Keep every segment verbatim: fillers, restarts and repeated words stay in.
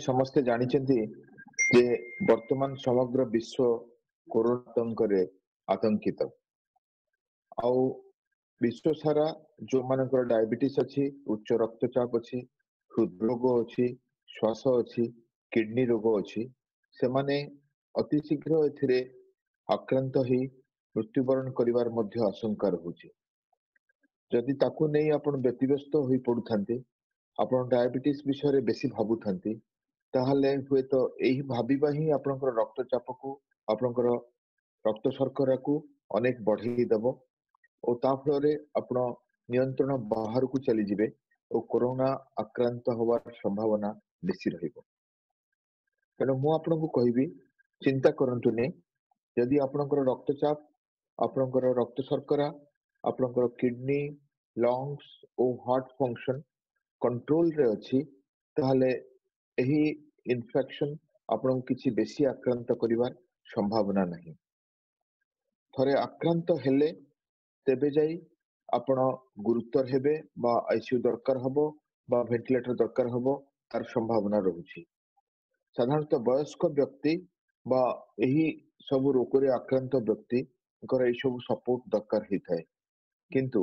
ସମସ୍ତେ ଜାଣିଛନ୍ତି ଯେ ବର୍ତ୍ତମାନ ସମଗ୍ର ବିଶ୍ୱ କରୋନା ଆତଙ୍କରେ ଆତଙ୍କିତ। ଆଉ ବିଶ୍ୱ ସାରା ଯୋଉମାନଙ୍କର ଡାଇବେଟିସ୍ ଅଛି, ଉଚ୍ଚ ରକ୍ତଚାପ ଅଛି, ହୃଦରୋଗ ଅଛି, ଶ୍ୱାସ ଅଛି, କିଡନୀ ରୋଗ ଅଛି, ସେମାନେ ଅତି ଶୀଘ୍ର ଏଥିରେ ଆକ୍ରାନ୍ତ ହେଇ ମୃତ୍ୟୁବରଣ କରିବାର ମଧ୍ୟ ଆଶଙ୍କା ରହୁଛି। ଯଦି ତାକୁ ନେଇ ଆପଣ ବ୍ୟତିବ୍ୟସ୍ତ ହୋଇ ପଡୁଥାନ୍ତି, ଆପଣ ଡାଇବେଟିସ୍ ବିଷୟରେ ବେଶୀ ଭାବୁଥାନ୍ତି, ତାହେଲେ ହୁଏତ ଏହି ଭାବିବା ହିଁ ଆପଣଙ୍କର ରକ୍ତଚାପକୁ, ଆପଣଙ୍କର ରକ୍ତ ଶର୍କରାକୁ ଅନେକ ବଢେଇ ଦବ ଓ ତା ଫଳରେ ଆପଣ ନିୟନ୍ତ୍ରଣ ବାହାରକୁ ଚାଲିଯିବେ ଓ କରୋନା ଆକ୍ରାନ୍ତ ହବାର ସମ୍ଭାବନା ବେଶୀ ରହିବ। ତେଣୁ ମୁଁ ଆପଣଙ୍କୁ କହିବି, ଚିନ୍ତା କରନ୍ତୁନି। ଯଦି ଆପଣଙ୍କର ରକ୍ତଚାପ, ଆପଣଙ୍କର ରକ୍ତ ଶର୍କରା, ଆପଣଙ୍କର କିଡନୀ, ଲଙ୍ଗସ ଓ ହାର୍ଟ ଫଙ୍କସନ କଣ୍ଟ୍ରୋଲରେ ଅଛି, ତାହେଲେ ଏହି ଇନଫେକ୍ସନ ଆପଣଙ୍କୁ କିଛି ବେଶୀ ଆକ୍ରାନ୍ତ କରିବାର ସମ୍ଭାବନା ନାହିଁ। ଥରେ ଆକ୍ରାନ୍ତ ହେଲେ ତେବେ ଯାଇ ଆପଣ ଗୁରୁତର ହେବେ ବା ଆଇସିୟୁ ଦରକାର ହବ ବା ଭେଣ୍ଟିଲେଟର ଦରକାର ହବ, ତାର ସମ୍ଭାବନା ରହୁଛି। ସାଧାରଣତଃ ବୟସ୍କ ବ୍ୟକ୍ତି ବା ଏହି ସବୁ ରୋଗରେ ଆକ୍ରାନ୍ତ ବ୍ୟକ୍ତିଙ୍କର ଏଇ ସବୁ ସପୋର୍ଟ ଦରକାର ହେଇଥାଏ। କିନ୍ତୁ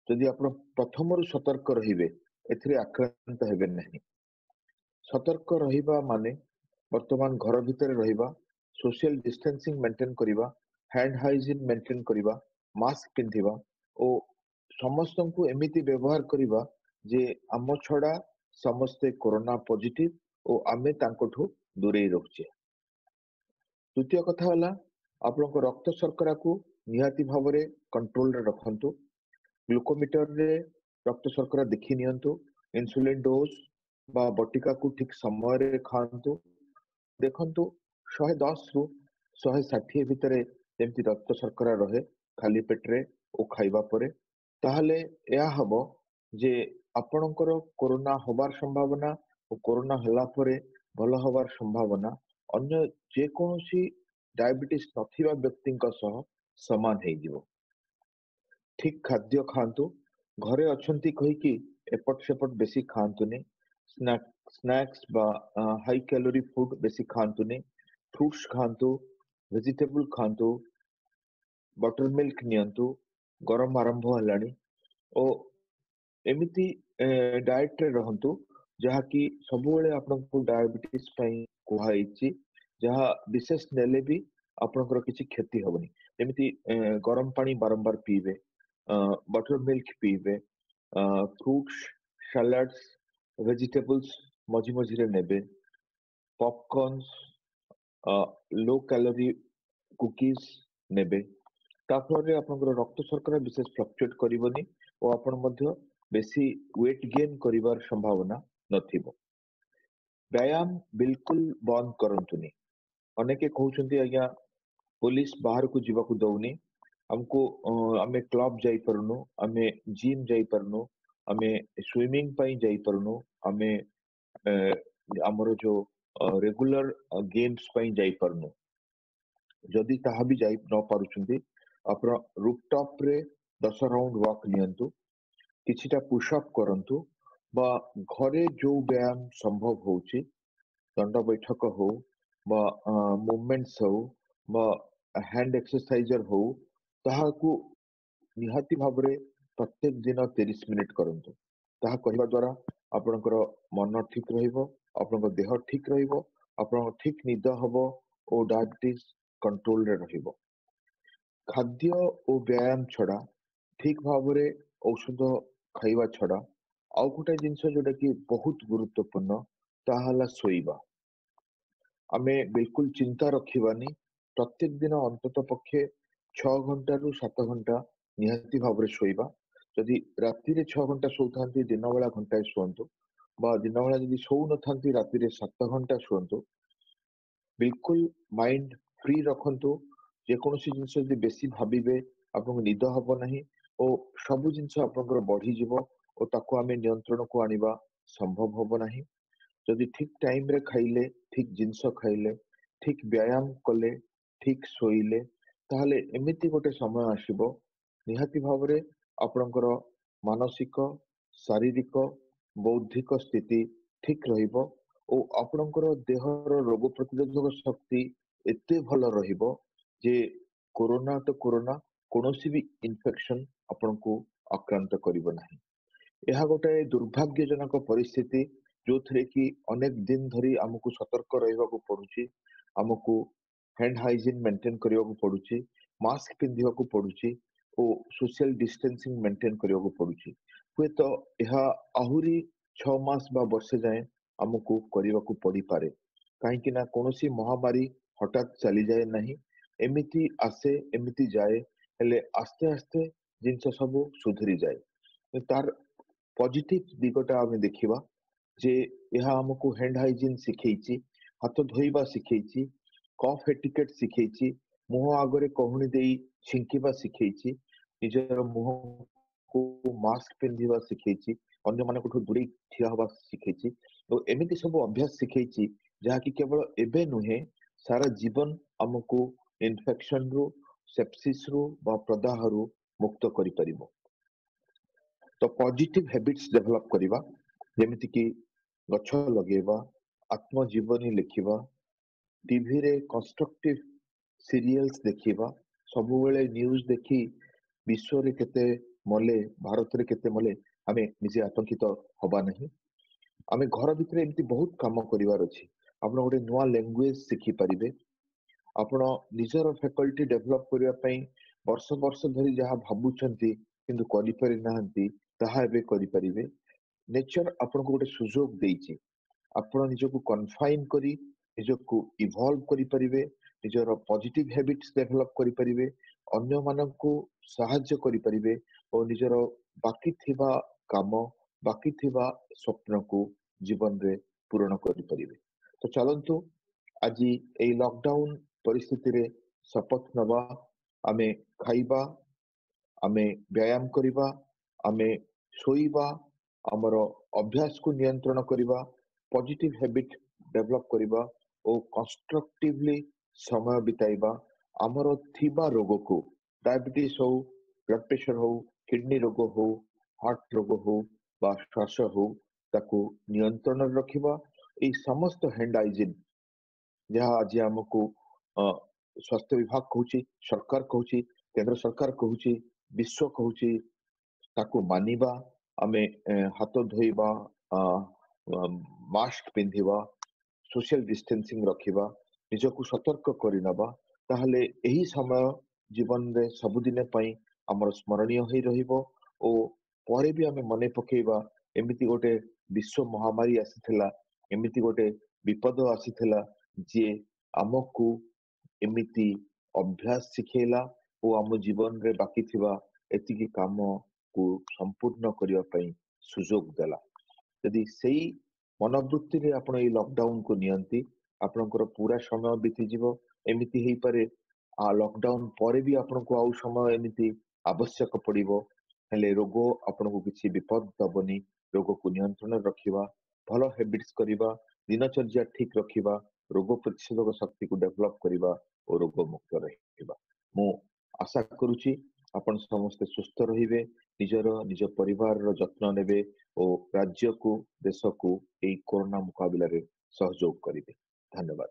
ଯଦି ଆପଣ ପ୍ରଥମରୁ ସତର୍କ ରହିବେ, ଏଥିରେ ଆକ୍ରାନ୍ତ ହେବେ ନାହିଁ। ସତର୍କ ରହିବା ମାନେ ବର୍ତ୍ତମାନ ଘର ଭିତରେ ରହିବା, ସୋସିଆଲ ଡିଷ୍ଟାନ୍ସିଂ ମେଣ୍ଟେନ କରିବା, ହ୍ୟାଣ୍ଡ ହାଇଜିନ୍ ମେଣ୍ଟେନ କରିବା, ମାସ୍କ ପିନ୍ଧିବା ଓ ସମସ୍ତଙ୍କୁ ଏମିତି ବ୍ୟବହାର କରିବା ଯେ ଆମ ଛଡା ସମସ୍ତେ କରୋନା ପଜିଟିଭ ଓ ଆମେ ତାଙ୍କଠୁ ଦୂରେଇ ରହୁଛେ। ଦ୍ୱିତୀୟ କଥା ହେଲା, ଆପଣଙ୍କ ରକ୍ତ ଶର୍କରାକୁ ନିହାତି ଭାବରେ କଣ୍ଟ୍ରୋଲରେ ରଖନ୍ତୁ। ଗ୍ଲୁକୋମିଟରରେ ରକ୍ତ ଶର୍କରା ଦେଖି ନିଅନ୍ତୁ। ଇନ୍ସୁଲିନ ଡୋଜ ବା ବଟିକାକୁ ଠିକ ସମୟରେ ଖାଆନ୍ତୁ। ଦେଖନ୍ତୁ ଶହେ ଦଶରୁ ଶହେ ଷାଠିଏ ଭିତରେ ଯେମିତି ରକ୍ତ ଶର୍କରା ରହେ ଖାଲି ପେଟରେ ଓ ଖାଇବା ପରେ, ତାହେଲେ ଏହା ହବ ଯେ ଆପଣଙ୍କର କରୋନା ହବାର ସମ୍ଭାବନା ଓ କରୋନା ହେଲା ପରେ ଭଲ ହବାର ସମ୍ଭାବନା ଅନ୍ୟ ଯେକୌଣସି ଡାଇବେଟିସ୍ ନଥିବା ବ୍ୟକ୍ତିଙ୍କ ସହ ସମାନ ହେଇଯିବ। ଠିକ ଖାଦ୍ୟ ଖାଆନ୍ତୁ। ଘରେ ଅଛନ୍ତି କହିକି ଏପଟ ସେପଟ ବେଶୀ ଖାଆନ୍ତୁନି। ସ୍ନାକ୍ସ ବା ହାଇ କ୍ୟାଲୋରି ଫୁଡ ବେଶୀ ଖାଆନ୍ତୁନି। ଫ୍ରୁଟ୍ସ ଖାଆନ୍ତୁ, ଭେଜିଟେବୁଲ ଖାଆନ୍ତୁ, ବଟର ମିଲ୍କ ନିଅନ୍ତୁ। ଗରମ ଆରମ୍ଭ ହେଲାଣି ଓ ଏମିତି ଡାଏଟରେ ରହନ୍ତୁ ଯାହାକି ସବୁବେଳେ ଆପଣଙ୍କୁ ଡାଇବେଟିସ୍ ପାଇଁ କୁହାହେଇଛି, ଯାହା ବିଶେଷ ନେଲେ ବି ଆପଣଙ୍କର କିଛି କ୍ଷତି ହବନି। ଯେମିତି ଗରମ ପାଣି ବାରମ୍ବାର ପିଇବେ, ବଟର ମିଲ୍କ ପିଇବେ, ଫ୍ରୁଟ୍ସ, ସାଲାଡ୍ସ, ଭେଜିଟେବୁଲ୍ସ ମଝି ମଝିରେ ନେବେ, ପପକର୍ଣ୍ଣସ, ଲୋ କ୍ୟାଲୋରି କୁକିଜ ନେବେ। ତା ଫଳରେ ଆପଣଙ୍କର ରକ୍ତ ଶର୍କରା ବିଶେଷ ଫ୍ଲକ୍ଚୁଏଟ କରିବନି ଓ ଆପଣ ମଧ୍ୟ ବେଶୀ ୱେଟ ଗେନ୍ କରିବାର ସମ୍ଭାବନା ନଥିବ। ବ୍ୟାୟାମ ବିଲକୁଲ ବନ୍ଦ କରନ୍ତୁନି। ଅନେକେ କହୁଛନ୍ତି ଆଜ୍ଞା ପୋଲିସ ବାହାରକୁ ଯିବାକୁ ଦଉନି ଆମକୁ, ଆମେ କ୍ଲବ ଯାଇପାରୁନୁ, ଆମେ ଜିମ୍ ଯାଇପାରୁନୁ, ଆମେ ସୁଇମିଂ ପାଇଁ ଯାଇପାରୁନୁ, ଆମେ ଆମର ଯୋଉ ରେଗୁଲାର ଗେମ୍ସ ପାଇଁ ଯାଇପାରୁନୁ। ଯଦି ତାହା ବି ଯାଇ ନ ପାରୁଛନ୍ତି, ଆପଣ ରୁଫଟପରେ ଦଶ ରାଉଣ୍ଡ ୱାକ୍ ନିଅନ୍ତୁ, କିଛିଟା ପୁଷଅପ୍ କରନ୍ତୁ ବା ଘରେ ଯୋଉ ବ୍ୟାୟାମ ସମ୍ଭବ ହଉଛି, ଦଣ୍ଡ ବୈଠକ ହଉ ବା ମୁଭମେଣ୍ଟସ ହଉ ବା ହ୍ୟାଣ୍ଡ ଏକ୍ସରସାଇଜର ହଉ, ତାହାକୁ ନିହାତି ଭାବରେ ପ୍ରତ୍ୟେକ ଦିନ ତିରିଶ ମିନିଟ କରନ୍ତୁ। ତାହା କରିବା ଦ୍ୱାରା ଆପଣଙ୍କର ମନ ଠିକ ରହିବ, ଆପଣଙ୍କ ଦେହ ଠିକ ରହିବ, ଆପଣଙ୍କ ଠିକ ନିଦ ହବ ଓ ଡାଇବେଟିସ୍ କଣ୍ଟ୍ରୋଲରେ ରହିବ। ଖାଦ୍ୟ ଓ ବ୍ୟାୟାମ ଛଡା, ଠିକ ଭାବରେ ଔଷଧ ଖାଇବା ଛଡା ଆଉ ଗୋଟେ ଜିନିଷ ଯୋଉଟା କି ବହୁତ ଗୁରୁତ୍ୱପୂର୍ଣ୍ଣ, ତାହା ହେଲା ଶୋଇବା। ଆମେ ବିଲକୁଲ ଚିନ୍ତା ରଖିବାନି। ପ୍ରତ୍ୟେକ ଦିନ ଅନ୍ତତଃ ପକ୍ଷେ ଛଅ ଘଣ୍ଟାରୁ ସାତ ଘଣ୍ଟା ନିହାତି ଭାବରେ ଶୋଇବା। ଯଦି ରାତିରେ ଛଅ ଘଣ୍ଟା ଶୋଉଥାନ୍ତି, ଦିନ ବେଳା ଘଣ୍ଟାଏ ଶୁଅନ୍ତୁ, ବା ଦିନ ବେଳା ଯଦି ଶୋଉନଥାନ୍ତି ରାତିରେ ସାତ ଘଣ୍ଟା ଶୁଅନ୍ତୁ। ବିଲକୁଲ ମାଇଣ୍ଡ ଫ୍ରି ରଖନ୍ତୁ। ଯେକୌଣସି ଜିନିଷ ଯଦି ବେଶୀ ଭାବିବେ ଆପଣଙ୍କୁ ନିଦ ହବ ନାହିଁ ଓ ସବୁ ଜିନିଷ ଆପଣଙ୍କର ବଢିଯିବ ଓ ତାକୁ ଆମେ ନିୟନ୍ତ୍ରଣକୁ ଆଣିବା ସମ୍ଭବ ହବ ନାହିଁ। ଯଦି ଠିକ ଟାଇମରେ ଖାଇଲେ, ଠିକ ଜିନିଷ ଖାଇଲେ, ଠିକ ବ୍ୟାୟାମ କଲେ, ଠିକ ଶୋଇଲେ, ତାହେଲେ ଏମିତି ଗୋଟେ ସମୟ ଆସିବ ନିହାତି ଭାବରେ ଆପଣଙ୍କର ମାନସିକ, ଶାରୀରିକ, ବୌଦ୍ଧିକ ସ୍ଥିତି ଠିକ ରହିବ ଓ ଆପଣଙ୍କର ଦେହର ରୋଗ ପ୍ରତିରୋଧକ ଶକ୍ତି ଏତେ ଭଲ ରହିବ ଯେ କୋରୋନା ତ କୋରୋନା, କୌଣସି ବି ଇନଫେକ୍ସନ ଆପଣଙ୍କୁ ଆକ୍ରାନ୍ତ କରିବ ନାହିଁ। ଏହା ଗୋଟାଏ ଦୁର୍ଭାଗ୍ୟଜନକ ପରିସ୍ଥିତି ଯୋଉଥିରେ କି ଅନେକ ଦିନ ଧରି ଆମକୁ ସତର୍କ ରହିବାକୁ ପଡୁଛି, ଆମକୁ ହ୍ୟାଣ୍ଡ ହାଇଜିନ୍ ମେଣ୍ଟେନ କରିବାକୁ ପଡୁଛି, ମାସ୍କ ପିନ୍ଧିବାକୁ ପଡୁଛି ଓ ସୋସିଆଲ ଡିଷ୍ଟାନ୍ସିଂ ମେଣ୍ଟେନ କରିବାକୁ ପଡୁଛି। ହୁଏତ ଏହା ଆହୁରି ଛଅ ମାସ ବା ବର୍ଷେ ଯାଏଁ ଆମକୁ କରିବାକୁ ପଡିପାରେ, କାହିଁକି ନା କୌଣସି ମହାମାରୀ ହଠାତ୍ ଚାଲିଯାଏ ନାହିଁ, ଏମିତି ଆସେ ଏମିତି ଯାଏ, ହେଲେ ଆସ୍ତେ ଆସ୍ତେ ଜିନିଷ ସବୁ ସୁଧୁରି ଯାଏ। ତାର ପଜିଟିଭ ଦିଗଟା ଆମେ ଦେଖିବା ଯେ ଏହା ଆମକୁ ହ୍ୟାଣ୍ଡ ହାଇଜିନ୍ ଶିଖେଇଛି, ହାତ ଧୋଇବା ଶିଖେଇଛି, କଫ୍ ଏଟିକେଟ୍ ଶିଖେଇଛି, ମୁହଁ ଆଗରେ କହୁଣି ଦେଇ ଛିଙ୍କିବା ଶିଖେଇଛି, ନିଜର ମୁହଁକୁ ମାସ୍କ ପିନ୍ଧିବା ଶିଖେଇଛି, ଅନ୍ୟମାନଙ୍କଠୁ ଦୂରେଇ ଠିଆ ହବା ଶିଖେଇଛି ଓ ଏମିତି ସବୁ ଅଭ୍ୟାସ ଶିଖେଇଛି ଯାହାକି କେବଳ ଏବେ ନୁହେଁ, ସାରା ଜୀବନ ଆମକୁ ଇନଫେକ୍ସନରୁ, ସେପ୍ସିସରୁ ବା ପ୍ରଦାହରୁ ମୁକ୍ତ କରିପାରିବ। ତ ପଜିଟିଭ ହ୍ୟାବିଟ୍ସ ଡେଭଲପ କରିବା, ଯେମିତିକି ଗଛ ଲଗେଇବା, ଆତ୍ମଜୀବନୀ ଲେଖିବା, ଟିଭିରେ କନଷ୍ଟ୍ରକ୍ଟିଭ ସିରିଏଲ୍ସ ଦେଖିବା, ସବୁବେଳେ ନ୍ୟୁଜ ଦେଖି ବିଶ୍ୱରେ କେତେ ମଲେ, ଭାରତରେ କେତେ ମଲେ ଆମେ ନିଜେ ଆତଙ୍କିତ ହବା ନାହିଁ। ଆମେ ଘର ଭିତରେ ଏମିତି ବହୁତ କାମ କରିବାର ଅଛି। ଆପଣ ଗୋଟେ ନୂଆ ଲାଙ୍ଗୁଏଜ ଶିଖିପାରିବେ, ଆପଣ ନିଜର ଫ୍ୟାକଲ୍ଟି ଡେଭଲପ କରିବା ପାଇଁ ବର୍ଷ ବର୍ଷ ଧରି ଯାହା ଭାବୁଛନ୍ତି କିନ୍ତୁ କରିପାରି ନାହାନ୍ତି ତାହା ଏବେ କରିପାରିବେ। ନେଚର ଆପଣଙ୍କୁ ଗୋଟେ ସୁଯୋଗ ଦେଇଛି, ଆପଣ ନିଜକୁ କନଫାଇନ କରି ନିଜକୁ ଇଭଲ୍ଭ କରିପାରିବେ, ନିଜର ପଜିଟିଭ ହ୍ୟାବିଟ୍ସ ଡେଭଲପ କରିପାରିବେ, ଅନ୍ୟମାନଙ୍କୁ ସାହାଯ୍ୟ କରିପାରିବେ ଓ ନିଜର ବାକି ଥିବା କାମ, ବାକି ଥିବା ସ୍ୱପ୍ନକୁ ଜୀବନରେ ପୂରଣ କରିପାରିବେ। ତ ଚାଲନ୍ତୁ ଆଜି ଏଇ ଲକଡାଉନ ପରିସ୍ଥିତିରେ ଶପଥ ନେବା, ଆମେ ଖାଇବା, ଆମେ ବ୍ୟାୟାମ କରିବା, ଆମେ ଶୋଇବା, ଆମର ଅଭ୍ୟାସକୁ ନିୟନ୍ତ୍ରଣ କରିବା, ପଜିଟିଭ ହ୍ୟାବିଟ ଡେଭଲପ କରିବା ଓ କନଷ୍ଟ୍ରକ୍ଟିଭଲି ସମୟ ବିତାଇବା। ଆମର ଥିବା ରୋଗକୁ, ଡାଇବେଟିସ୍ ହଉ, ବ୍ଲଡ ପ୍ରେସର ହଉ, କିଡନୀ ରୋଗ ହଉ, ହାର୍ଟ ରୋଗ ହଉ ବା ଶ୍ୱାସ ହଉ, ତାକୁ ନିୟନ୍ତ୍ରଣରେ ରଖିବା। ଏଇ ସମସ୍ତ ହ୍ୟାଣ୍ଡ ହାଇଜିନ୍ ଯାହା ଆଜି ଆମକୁ ସ୍ୱାସ୍ଥ୍ୟ ବିଭାଗ କହୁଛି, ସରକାର କହୁଛି, କେନ୍ଦ୍ର ସରକାର କହୁଛି, ବିଶ୍ୱ କହୁଛି, ତାକୁ ମାନିବା। ଆମେ ହାତ ଧୋଇବା, ମାସ୍କ ପିନ୍ଧିବା, ସୋସିଆଲ ଡିଷ୍ଟାନ୍ସିଂ ରଖିବା, ନିଜକୁ ସତର୍କ କରିନେବା, ତାହେଲେ ଏହି ସମୟ ଜୀବନରେ ସବୁଦିନ ପାଇଁ ଆମର ସ୍ମରଣୀୟ ହେଇ ରହିବ ଓ ପରେ ବି ଆମେ ମନେ ପକେଇବା ଏମିତି ଗୋଟେ ବିଶ୍ୱ ମହାମାରୀ ଆସିଥିଲା, ଏମିତି ଗୋଟେ ବିପଦ ଆସିଥିଲା ଯିଏ ଆମକୁ ଏମିତି ଅଭ୍ୟାସ ଶିଖେଇଲା ଓ ଆମ ଜୀବନରେ ବାକି ଥିବା ଏତିକି କାମକୁ ସମ୍ପୂର୍ଣ୍ଣ କରିବା ପାଇଁ ସୁଯୋଗ ଦେଲା। ଯଦି ସେଇ ମନୋବୃତ୍ତିରେ ଆପଣ ଏଇ ଲକଡାଉନକୁ ନିଅନ୍ତି, ଆପଣଙ୍କର ପୁରା ସମୟ ବିତିଯିବ। ଏମିତି ହେଇପାରେ ଆ ଲକଡାଉନ ପରେ ବି ଆପଣଙ୍କୁ ଆଉ ସମୟ ଏମିତି ଆବଶ୍ୟକ ପଡିବ, ହେଲେ ରୋଗ ଆପଣଙ୍କୁ କିଛି ବିପଦ ଦବନି। ରୋଗକୁ ନିୟନ୍ତ୍ରଣରେ ରଖିବା, ଭଲ ହ୍ୟାବିଟ୍ସ କରିବା, ଦିନଚର୍ଯ୍ୟା ଠିକ ରଖିବା, ରୋଗ ପ୍ରତିଷେଧକ ଶକ୍ତିକୁ ଡେଭଲପ କରିବା ଓ ରୋଗ ମୁକ୍ତ ରହିବା। ମୁଁ ଆଶା କରୁଛି ଆପଣ ସମସ୍ତେ ସୁସ୍ଥ ରହିବେ, ନିଜର ନିଜ ପରିବାରର ଯତ୍ନ ନେବେ ଓ ରାଜ୍ୟକୁ, ଦେଶକୁ ଏଇ କରୋନା ମୁକାବିଲାରେ ସହଯୋଗ କରିବେ। ଧନ୍ୟବାଦ।